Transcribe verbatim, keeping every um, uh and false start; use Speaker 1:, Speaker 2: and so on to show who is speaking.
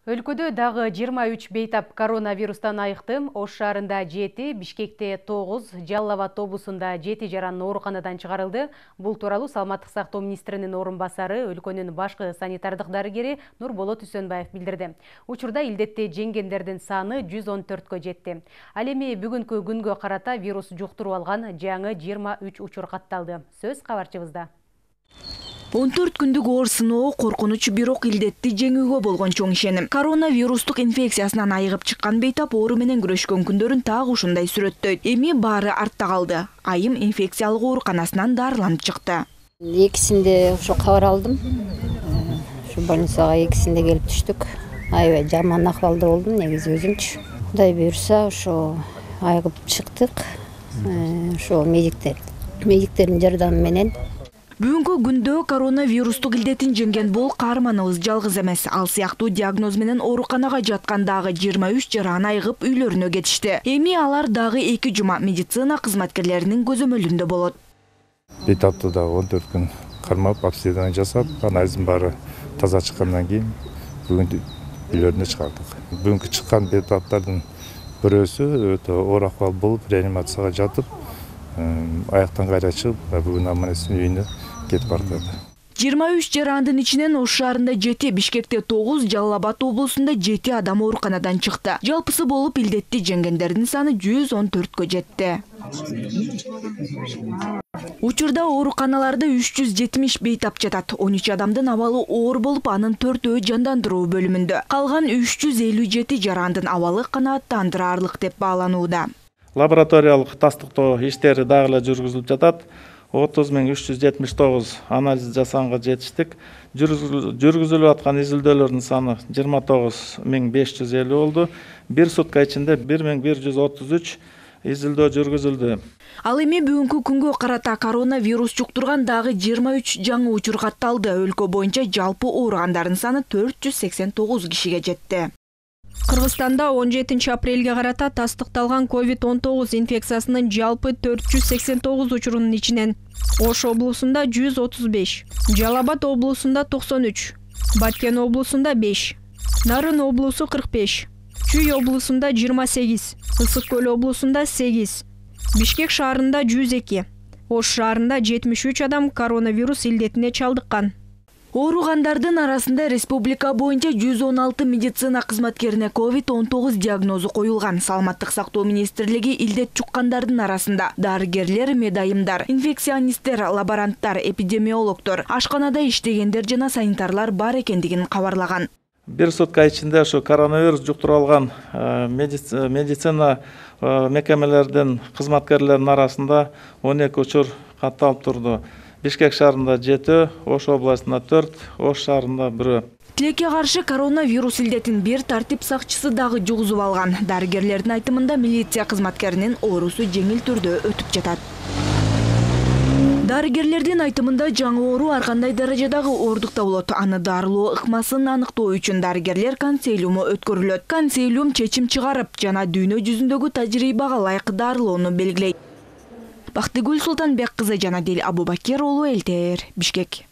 Speaker 1: Өлкөдө дагы жыйырма үч бейтап коронавирустан айыкты. Ош шаарында жети, Бишкекте тогуз, Жалал Абад облусунда жети жаран ооруканадан чыгарылды. Бул тууралуу Саламаттык сактоо министринин орун басары, өлкөнүн башкы санитардык дарыгери Нурболот Үсөнбаев билдирди. Учурда илдетти жеңгендердин саны жүз он төрткө жетти. Ал эми бүгүнкү күнгө карата вирус жуктуруп алган жаңы жыйырма үч учур катталды. Сөз кабарчыбызда.
Speaker 2: он төрт күндүк оор сыноо коркунуч, бирок илдетти жеңүүгө болгон чоң ишеним. Коронавирустук инфекциясынан айыгып чыккан бейтап оору менен күрөшкөн күндөрүн так ушундай сүрөттөйт. Эми баары артта калды. Айым инфекциялык ооруканасынан дарыланып чыкты.
Speaker 3: Экисинде ошо кабар алдым. Ушу больницага экисинде келип түштүк. Аябай жаман акыбалда болдум негизи өзүмчү. Кудай буйрса ошо айыгып чыктык. Ошо медиктер, медиктердин жардамы менен.
Speaker 2: Бүгүнкү күндө коронавирустук илдетин жеңген бул каарманыбыз жалгыз эмес. Ал сыяктуу диагноз менен ооруканага жаткан дагы жыйырма үч жаран айыгып үйлөрүнө кетишти. Эми алар дагы эки жума медицина кызматкерлеринин көзөмөлүндө болот.
Speaker 4: Бейтапты дагы он төрт күн кармап, обследование жасап, анализдин баары таза чыккандан кийин бүгүн үйлөрүнө чыгардык. Бүгүнкү чыккан бейтаптардын бирөөсү өтө оор акыбал болуп, реанимацияга жатып, аяктан кайра чыгып, бүгүн аман-эсен үйүнө кетип баратат.
Speaker 2: жыйырма үч жарандын ичинен Ош шаарында жети, Бишкекте тогуз, Жалал Абад облусунда жети адам ооруканадан чыкты. Жалпысы болуп илдетти жеңгендердин саны жүз он төрткө жетти. Учурда ооруканаларда үч жүз жетимиш бейтап жатат. он үч адамдын абалы оор болуп, анын төртөө жандандыруу бөлүмүндө. Калган үч жүз элүү жети жарандын абалы канааттандыраарлык деп бааланууда.
Speaker 5: Лабораториялык тастыктоо иштери дагы эле жүргүзүлүп жатат. отуз миң үч жүз жетимиш тогуз анализ жасаганга жетиштик. Жүргүзүлүп аткан изилдөөлөрдүн саны жыйырма тогуз миң беш жүз элүү болду. Бир сутка ичинде бир миң бир жүз отуз үч изилдөө жүргүзүлдү.
Speaker 2: Ал эми бүгүнкү күнгө карата коронавирус жуктурган дагы жыйырма үч жаңы учур катталды. Өлкө боюнча жалпы ооругандардын саны төрт жүз сексен тогуз кишиге жетти.
Speaker 6: Кыргызстанда он жетинчи апрелге карата тастыкталган ковид он тогуз инфекциясынын жалпы төрт жүз сексен тогуз учурунун ичинен Ош облусунда жүз отуз беш, Жалал Абад облусунда токсон үч, Баткен облусунда беш, Нарын облусу кырк беш, Чүй облусунда жыйырма сегиз, Ысык көл облусунда сегиз, Бишкек шаарында жүз эки, Ош шаарында жетимиш үч адам коронавирус илдетине чалдыккан.
Speaker 2: Ооругандардын арасында республика боюнча жүз он алты медицина кызматкерине ковид он тогуз диагнозу коюлган. Саламаттык сактоо министрлиги илдет жуккандардын арасында дарыгерлер, медайымдар, инфекционисттер, лаборанттар, эпидемиологдор, ашканада иштегендер жана санитарлар бар экендигин кабарлаган.
Speaker 5: Бир сутка ичинде ошо коронавирус жуктуруп алган медицина мекемелердин кызматкерлеринин арасында он эки учур катталып турду. Бишкек шаарында жети, Ош областында төрт, Ош шаарында бир.
Speaker 2: Тилекке каршы коронавирус илдетин бир тартип сакчысы дагы жугузуп алган. Дарыгерлердин айтымында милиция кызматкеринин оорусу жеңил түрдө өтүп жатат. Дарыгерлердин айтымында жаңы оору ар кандай даражадагы оордукта болот. Аны дарылоо ыкмасын аныктоо үчүн дарыгерлер консилиуму өткөрүлөт. Консилиум чечим чыгарып жана дүйнө жүзүндөгү тажрыйбага ылайык дарылоону белгилейт. Бактыгүл Султанбек кызы, Жанадил Абубакир уулу, эл тэ эр, Бишкек.